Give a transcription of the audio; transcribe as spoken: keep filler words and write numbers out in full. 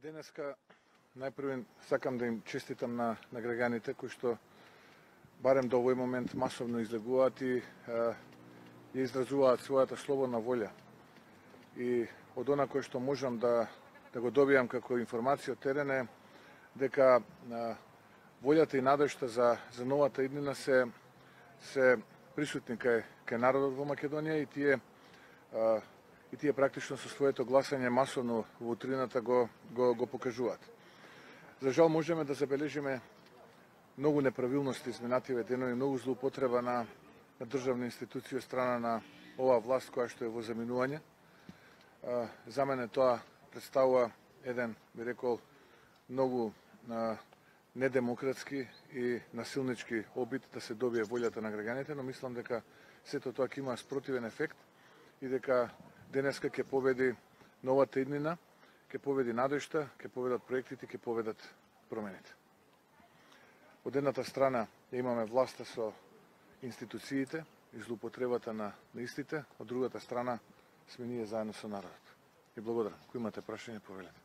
Денеска најпрвен сакам да им честитам на, на граѓаните кои што барем до овој момент масовно излегуваат и ја изразуваат својата слободна волја. И од она кој што можам да, да го добијам како информација од терен е дека а, волјата и надежта за, за новата иднина се, се присутни кај, кај народот во Македонија и тие а, и тие практично со своето гласање масовно во утрината го, го, го покажуваат. За жал можеме да забележиме многу неправилности изминативе денови, многу злоупотреба на, на државни институции од страна на оваа власт која што е во заминување. А, за мене тоа представува еден, би рекол, многу а, недемократски и насилнички обид да се добие волјата на граѓаните, но мислам дека сето тоа ќе има спротивен ефект и дека денеска ќе победи новата иднина, ќе победи надежта, ќе победат проектите, ќе победат промените. Од едната страна имаме власта со институциите и злоупотребата на, на истите, од другата страна сме ние заедно со народот. И благодарам. Ако имате прашање, повелете.